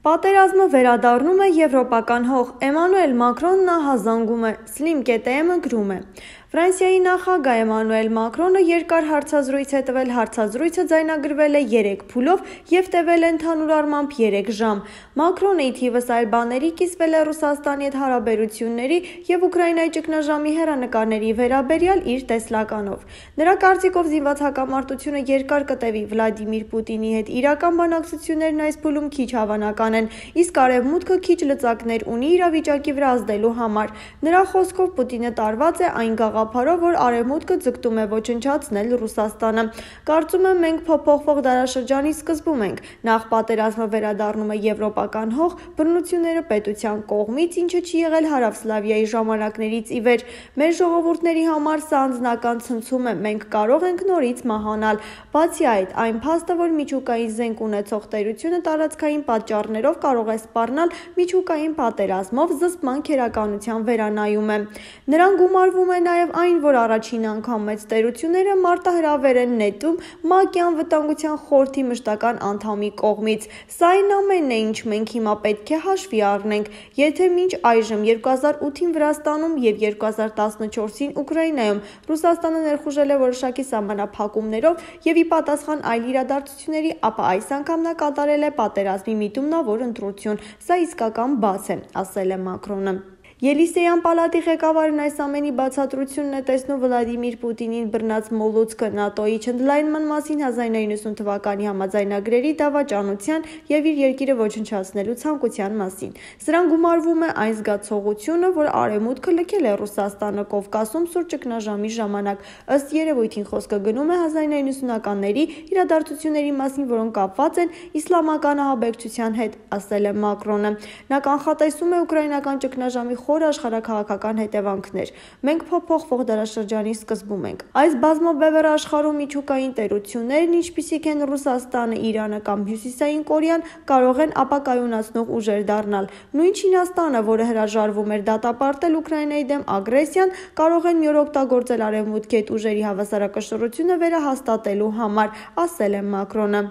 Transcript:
Պատերազմը վերադառնում է եվրոպական հող, Էմանուել Մակրոնն ահազանգում է, Slim KTM-ը գրում է։ Ֆրանսիայի նախագահ Էմանուել Մակրոնը երկար հարցազրույց է տվել, հարցազրույցը ձայնագրվել է 3 փուլով և տևել է ընդհանուր առմամբ 3 ժամ։ Մակրոնը ի թիվս այլ բաների կիսվել է Ռուսաստանի հետ հարաբերությունների և Ուկրաինայի ճգնաժամի հեռանկարների վերաբերյալ իր տեսլականով։ Նրա կարծիքով զինված հակամարտությունը երկար կտևի, Վլադիմիր Պուտինի հետ իրական բանակցություններն այս փուլում քիչ հավանական են, իսկ Արևմուտքը քիչ լծակներ ունի իրավիճակի վրա ազդելու համար։ Նրա խոսքով Պուտինը տարված է այն գաղափարով, որ Արևմուտքը ձգտում է ոչնչացնել Ռուսաստանը։ Կարծում եմ, մենք փոփոխվող դարաշրջանի սկզբում ենք։ Նախ պատերազմը վերադառնում է եվրոպական հող, բռնությունները պետության կողմից, ինչը չի եղել Հարավսլավիայի ժամանակներից ի վեր։ Մեր ժողովուրդների համար սա անձնական ցնցում է, մենք կարող ենք նորից մահանալ։ Բացի այդ, այն փաստը, որ միջուկային զենք ունեցող տերությունը տարածքային պատճառներով կարող է սպառնալ միջուկային պատերազմով, զսպման քերականության վերանայում է։ Նրան գումարվում է նաև այն, որ առաջին անգամ մեծ տերությունները մարտահրավեր են նետում ՄԱԿ-ի անվտանգության խորհրդի մշտական անդամի կողմից։ Սա այն ամենն է, ինչ մենք հիմա պետք է հաշվի առնենք։ Եթե մինչ այժմ 2008-ին Վրաստանում և 2014-ին Ուկրաինայում Ռուսաստանը ներխուժել է որոշակի սահմանափակումներով և ի պատասխան այլ իրադարձությունների, ապա այս անգամ նա կատարել է պատերազմի միտումնավոր ընտրություն։ Սա իսկական բաց է, ասել է Մակրոնը։ Ելիսեյան պալատի ղեկավարն այս ամենի բացատրությունն է տեսնում Վլադիմիր Պուտինին բռնած մոլուցքը ՆԱՏՕ-ի չընդլայնման մասին 1990 թվականի համաձայնագրերի դավաճանության և իր երկիրը ոչնչացնելու ցանկության մասին։ Սրան գումարվում է այն զգացողությունը, որ Արևմուտքը լքել է Ռուսաստանը Կովկասում սուր ճգնաժամի ժամանակ։ Ըստ երևույթին խոսքը գնում է 1990-ականների իրադարձությունների մասին, որոնք կապված են իսլամական ահաբեկչության հետ, ասել է Մակրոնը։ Նա կանխատեսում է ուկրաինական ճգնաժամի խոր աշխարհաքաղաքական հետևանքներ։ Մենք փոփոխվող դարաշրջանի սկզբում ենք։ Այս բազմաբևեռ աշխարհում միջուկային տերություններն, ինչպիսիք են Ռուսաստանը, Իրանը կամ Հյուսիսային Կորեան, կարող են ապակայունացնող ուժեր դառնալ։ Նույն Չինաստանը, որը հրաժարվում էր դատապարտել Ուկրաինայի դեմ ագրեսիան, կարող են մի օր օգտագործել Արևմուտքի հետ ուժերի հավասարակշռությունը վերահաստատելու համար, ասել է Մակրոնը։